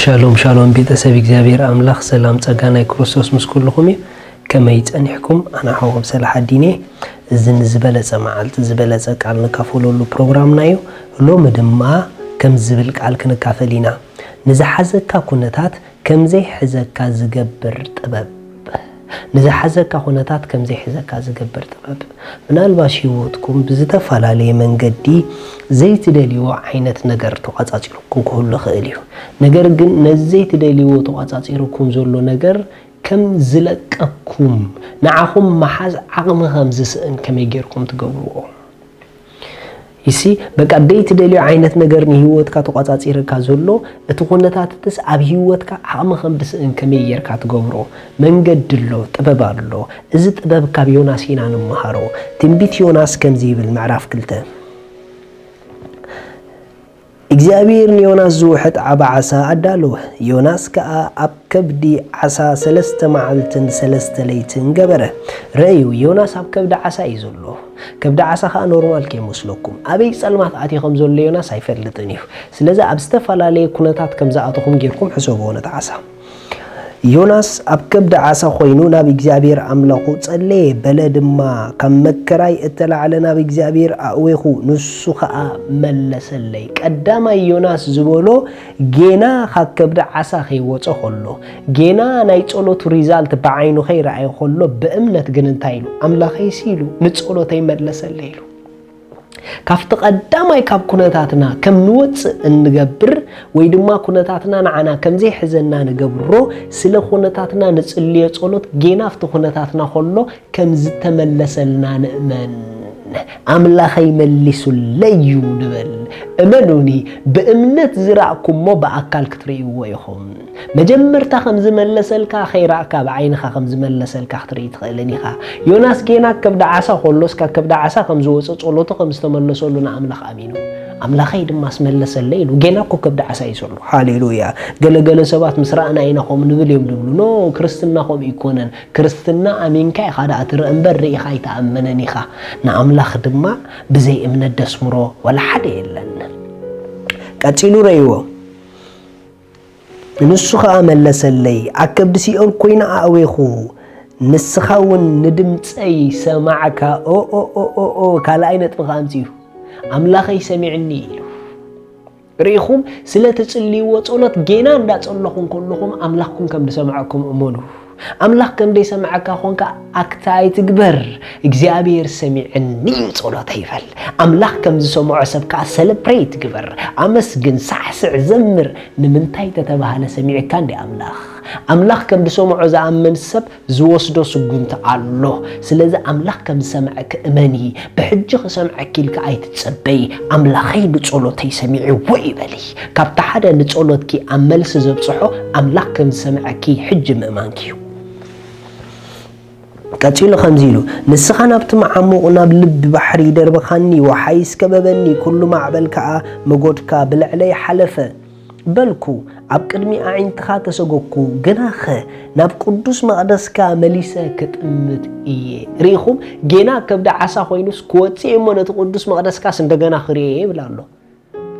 ሻሎም ሻሎም ቤተሰብ እግዚኣብሔር ኣምላኽ ሰላም ጸጋ ናይ ክርስቶስ ምስ ኩልኹም እዩ። ከመይ ጸኒሕኩም? ኣነ ሓውኹም ሰላሓዲን እየ። እዚ ንዝበለጸ መዓልቲ ዝበለጸ ቃል ንካፈለሉ ፕሮግራምና እዩ። ሎሚ ድማ ከም ዝብል ቃል ክንካፈል ኢና። ንዝሓዘካ ኩነታት ከም ዘይሕዘካ ዝገብር ጥበብ። ንዝሓዘካ ኩነታት ከም ዘይሕዘካ ዝገብር ጥበብ። ምናልባሽ ህይወትኩም ብዝተፈላለየ መንገዲ ዘይትደልይዎ ዓይነት ነገር ተቋጻጺሩኩም ክህሉ ይኽእል እዩ። ነገር ግን ነዚ ዘይትደልይዎ ተቋጻጺሩኩም ዘሎ ነገር ከም ዝለቀኩም፣ ንዓኹም መሓዝ ዓቕሚ ከም ዝስእን ከመይ ጌርኩም ትገብርዎ? ይሲ በቃ ደይ ትደልዮ ዓይነት ነገር ንህይወትካ ተቋጻጺርካ ዘሎ እቲ ኩነታትትስ ኣብ ህይወትካ ዓቕሚ ከም ድስእን ከመይ ጌርካ ትገብሮ? መንገዲ ኣሎ፣ ጥበብ ኣሎ። እዚ ጥበብ ካብ ዮናስ ኢና ንመሃሮ። ትንቢት ዮናስ ከምዚ ይብል፣ ምዕራፍ ክልተ፣ እግዚኣብሔር ንዮናስ ዝውሕጥ ዓቢ ዓሳ ኣዳለወ። ዮናስ ከኣ ኣብ ከብዲ ዓሳ ሰለስተ መዓልትን ሰለስተ ለይትን ገበረ። ረእዩ፣ ዮናስ ኣብ ከብዲ ዓሳ እዩ ዘሎ። ከብዲ ዓሳ ከኣ ኖርማል ከይመስለኩም። ኣበይ ጸልማት ኣትዩ ከም ዘሎ ዮናስ ኣይፈልጥን እዩ። ስለዚ ኣብ ዝተፈላለየ ኩነታት ከም ዝኣተኹም ጌርኩም ሕሰብዎ ነቲ ዓሳ። ዮናስ ኣብ ከብዲ ዓሳ ኮይኑ ናብ እግዚኣብሔር ኣምላኹ ጸለየ፣ በለ ድማ፣ ካብ መከራይ እተላዕለ ናብ እግዚኣብሔር ኣእዌኹ፣ ንሱ ኸኣ መለሰለይ። ቀዳማይ ዮናስ ዝበሎ ጌና ካብ ከብዲ ዓሳ ከይወጸ ኸሎ፣ ጌና ናይ ጸሎቱ ሪዛልት ብዓይኑ ከይረኣየ ኸሎ፣ ብእምነት ግን እንታይ ኢሉ? ኣምላኸይሲ ኢሉ፣ ንጸሎተይ መለሰለይ ኢሉ። ካብቲ ቀዳማይ ካብ ኩነታትና ከም ንወጽእ እንገብር ወይ ድማ ኩነታትና ንዓና ከም ዘይሕዘና ንገብሮ፣ ስለ ኩነታትና ንጽልዮ ጸሎት ጌና ኣብቲ ኩነታትና ኸሎ ከም ዝተመለሰልና ንእመን። ኣምላኸይ መሊሱለይ እዩ ንበል። እመኑኒ፣ ብእምነት ዝረኣኩሞ ብኣካል ክትርእይዎ ኢኹም። መጀመርታ ከም ዝመለሰልካ ከይረኣካ ብዓይንኻ ከም ዝመለሰልካ ክትርኢ ትኽእልን ኢኻ። ዮናስ ጌና ከብዲ ዓሳ ከሎ እስካ ከብዲ ዓሳ ከም ዝወጸ ጸሎቱ ከም ዝተመለሰሉ ንኣምላኽ ኣሚኑ። ኣምላኸይ ድማ ኣስመለሰለይ ኢሉ። ጌና እኮ ከብዲ ዓሳ እዩ ዘሎ። ሃሌሉያ። ገለገለ ሰባት ምስ ረኣና ኢና ከምኡ ንብል እዮም ዝብሉ። ኖ፣ ክርስትና ከምኡ ይኮነን። ክርስትና ኣሚንካ ኢኻ ደኣ ትርኢ እምበር ርኢኻ ኣይትኣምንን ኢኻ። ንኣምላኽ ድማ ብዘይ እምነት ደስምሮ ዋላ ሓደ የለን። ቀጺሉ ረእይዎ። ንሱ ኸኣ መለሰለይ፣ ኣብ ከብዲ ሲኦል ኮይነ ኣእዌኹ፣ ንስኻ እውን ንድምጸይ ሰማዕካ። ኦ፣ ኦ፣ ኦ፣ ኦ፣ ኦ፣ ካልኣይ ነጥቢ ኸኣ ኣምጺኡ። ኣምላኸይ ሰሚዕኒ ኢሉ። ርኢኹም፣ ስለ ትጽልይዎ ጸሎት ጌና እንዳጸለኹም ከለኹም ኣምላኽኩም ከም ዝሰምዐኩም እመኑ። ኣምላኽ ከም ዘይሰምዐካ ኾንካ ኣክት ኣይትግበር። እግዚኣብሔር ሰሚዕኒ እዩ ጸሎተይ ይበል። ኣምላኽ ከም ዝሰምዖ ሰብ ከኣ ሰለብሬት ግበር። ኣመስግን፣ ሳዕስዕ፣ ዘምር። ንምንታይ ተተባህለ ሰሚዕካ እንዲ ኣምላኽ። ኣምላኽ ከም ዝሰምዖ ዝኣምን ሰብ ዝወስዶ ስጉምቲ ኣሎ። ስለዚ ኣምላኽ ከም ዝሰምዐኪ እመኒ። ብሕጂ ክሰምዐኪ ኢልካ ኣይትጸበይ። ኣምላኸይ ንጸሎተይ ሰሚዕዎ እዩ በሊ። ካብቲ ሓደ ንጸሎትኪ ኣብ መልሲ ዘብጽሖ ኣምላኽ ከም ዝሰምዐኪ ሕጂ ምእማንኪ እዩ። ቀጺሉ ከምዚ ኢሉ፣ ንስኻ ናብቲ መዓሙቕ ናብ ልቢ ባሕሪ ደርበኻኒ፣ ወሓይስ ከበበኒ፣ ኩሉ ማዕበል ከኣ መጎድካ ብልዕለይ ሓለፈ። በልኩ፣ ኣብ ቅድሚ ኣዒንትኻ ተሰጎግኩ፣ ግናኸ ናብ ቅዱስ መቕደስካ መሊሰ ክጥምት እየ። ርኢኹም፣ ጌና ከብዲ ዓሳ ኮይኑስ ክወጽእ እሞ ነቲ ቅዱስ መቕደስካስ እንደገና ክርእየ ይብል ኣሎ።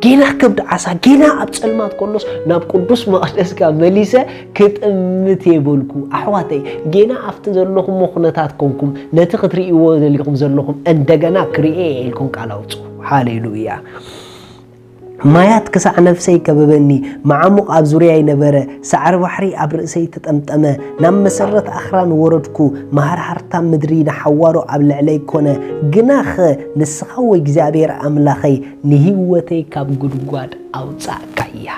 ጌና ከብዲ ዓሳ፣ ጌና ኣብ ጸልማት ከሎስ ናብ ቅዱስ መቕደስካ መሊሰ ክጥምት እየ በልኩ። ኣሕዋተይ፣ ጌና ኣብቲ ዘለኹሞ ኩነታት ኮንኩም፣ ነቲ ክትርእይዎ ደሊኹም ዘለኹም እንደገና ክርእየ እየ ኢልኩም ቃል ኣውጽኡ። ሃሌሉያ። ማያት ክሳዕ ነፍሰይ ከበበኒ፣ መዓሙቕ ኣብ ዙርያይ ነበረ፣ ሳዕሪ ባሕሪ ኣብ ርእሰይ ተጠምጠመ። ናብ መሰረት ኣኽራን ወረድኩ፣ መሃርሃርታ ምድሪ ንሓዋሩ ኣብ ልዕለይ ኮነ። ግናኸ ንስኻ፣ ወእግዚኣብሔር ኣምላኸይ፣ ንህይወተይ ካብ ጉድጓድ ኣውጻእካያ።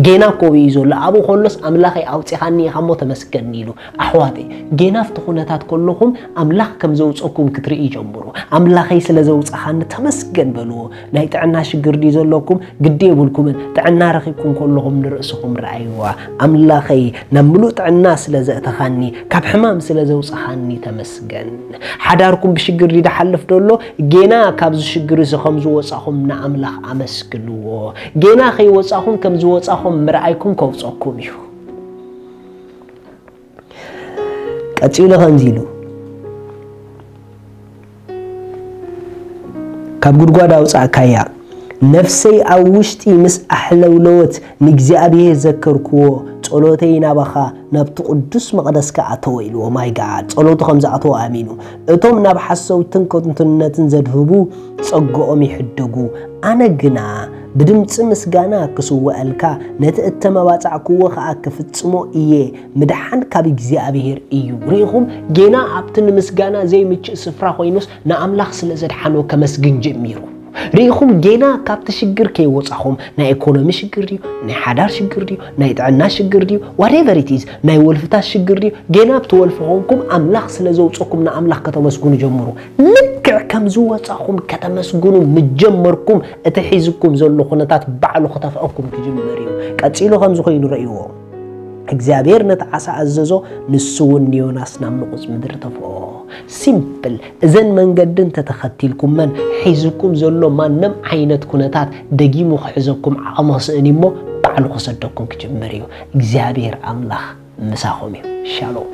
ጌና እኮ እዩ ዘሎ። ኣብኡ ከሎስ ኣምላኸይ ኣውጺኻኒ ኢኻ እሞ ተመስገን ኢሉ። ኣሕዋተይ፣ ጌና ኣብቲ ኩነታት ከለኹም ኣምላኽ ከም ዘውጸኩም ክትርኢ ጀምሩ። ኣምላኸይ ስለ ዘውጻኻኒ ተመስገን በልዎ። ናይ ጥዕና ሽግር ድዩ ዘለኩም? ግዲ የብልኩምን። ጥዕና ረኺብኩም ከለኹም ንርእስኹም ረኣይዋ። ኣምላኸይ ናብ ምሉእ ጥዕና ስለ ዘእተኻኒ፣ ካብ ሕማም ስለ ዘውጻኻኒ ተመስገን። ሓዳርኩም ብሽግር ድዩ ዝሓልፍ ዘሎ? ጌና ካብዚ ሽግር እዚ ከም ዝወጻኹም ንኣምላኽ ኣመስግንዎ። ጌና ከይወጻኹም ከም ዝወጻኹም ምርኣይኩም ከውጸኩም እዩ። ቀጺሉ ከምዚ ኢሉ፣ ካብ ጉድጓድ ኣውጻእካያ፣ ነፍሰይ ኣብ ውሽጢ ምስ ኣሕለውለወት ንእግዚኣብሔር ዘከርክዎ፣ ጸሎተይ ናባኻ ናብቲ ቅዱስ መቕደስካ ኣተወ ኢልዎ። ማይ ጋድ ጸሎቱ ከም ዝኣተወ ኣሚኑ። እቶም ናብ ሓሰውትን ከንቱነትን ዘድህቡ ጸግኦም ይሕደጉ። ኣነ ግና ብድምጺ ምስጋና ክስውኣልካ፣ ነቲ እተመባጻዕክዎ ኸኣ ክፍጽሞ እየ። ምድሓን ካብ እግዚኣብሔር እዩ። ርኢኹም፣ ጌና ኣብቲ ንምስጋና ዘይምችእ ስፍራ ኮይኑስ ንኣምላኽ ስለ ዘድሓኖ ከመስግን ጀሚሩ። ርኢኹም፣ ጌና ካብቲ ሽግር ከይወጻኹም፣ ናይ ኢኮኖሚ ሽግር ድዩ፣ ናይ ሓዳር ሽግር ድዩ፣ ናይ ጥዕና ሽግር ድዩ፣ whatever it is፣ ናይ ወልፍታት ሽግር ድዩ፣ ጌና ኣብቲ ወልፊ ኮንኩም ኣምላኽ ስለ ዘውጸኩም ንኣምላኽ ከተመስግኑ ጀምሩ። ልክዕ ከም ዝወጻኹም ከተመስግኑ ምጀመርኩም፣ እቲ ሒዝኩም ዘሎ ኩነታት ባዕሉ ክተፍኣኩም ክጅምር እዩ። ቀጺሉ ከምዚ ኮይኑ ረእይዎ። እግዚኣብሔር ነቲ ዓሳ ኣዘዞ፣ ንሱ እውን ንዮናስ ናብ ንቑጽ ምድሪ ተፍኦ። ሲምፕል። እዘን መንገዲ እንተተኸቲልኩመን፣ ሒዝኩም ዘሎ ማንም ዓይነት ኩነታት ደጊሙ ክሕዘኩም ዓቕሚ ክስእን እሞ፣ ባዕሉ ክሰደኩም ክጅምር እዩ። እግዚኣብሔር ኣምላኽ ምሳኹም እዩ። ሻሎም።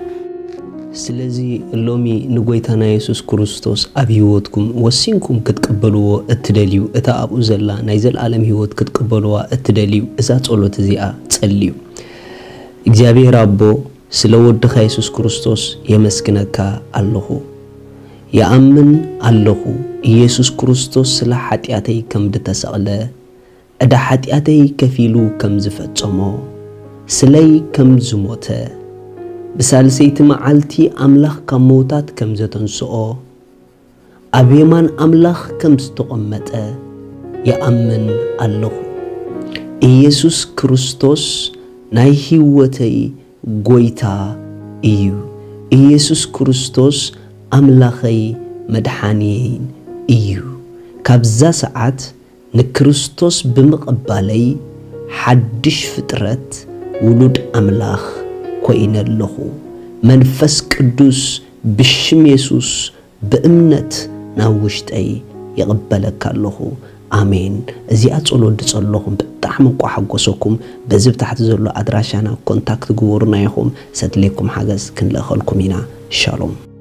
ስለዚ ሎሚ ንጎይታና የሱስ ክርስቶስ ኣብ ህይወትኩም ወሲንኩም ክትቅበልዎ እትደልዩ፣ እታ ኣብኡ ዘላ ናይ ዘለኣለም ህይወት ክትቅበልዋ እትደልዩ፣ እዛ ጸሎት እዚኣ ጸልዩ። እግዚኣብሔር ኣቦ፣ ስለ ወድኻ የሱስ ክርስቶስ የመስግነካ ኣለኹ። ይኣምን ኣለኹ፣ ኢየሱስ ክርስቶስ ስለ ሓጢኣተይ ከም ድተሰቕለ፣ ዕዳ ሓጢኣተይ ከፊሉ ከም ዝፈጸሞ፣ ስለይ ከም ዝሞተ፣ ብሳልሰይቲ መዓልቲ ኣምላኽ ካብ ምዉታት ከም ዘተንስኦ፣ ኣብ የማን ኣምላኽ ከም ዝተቐመጠ ይኣምን ኣለኹ። ኢየሱስ ክርስቶስ ናይ ህይወተይ ጎይታ እዩ። ኢየሱስ ክርስቶስ ኣምላኸይ መድሓንየይን እዩ። ካብዛ ሰዓት ንክርስቶስ ብምቕባለይ ሓድሽ ፍጥረት ውሉድ ኣምላኽ ኮይነ ኣለኹ። መንፈስ ቅዱስ ብሽም የሱስ ብእምነት ናብ ውሽጠይ ይቕበለካ ኣለኹ። ኣሜን። እዚኣ ጸሎት ድጸለኹም ብጣዕሚ እንቋ ሓጎሰኩም። በዚ ብታሕቲ ዘሎ ኣድራሻና ኮንታክት ግበሩና ኢኹም። ሰድሌኩም ሓገዝ ክንልእኸልኩም ኢና። ሻሎም።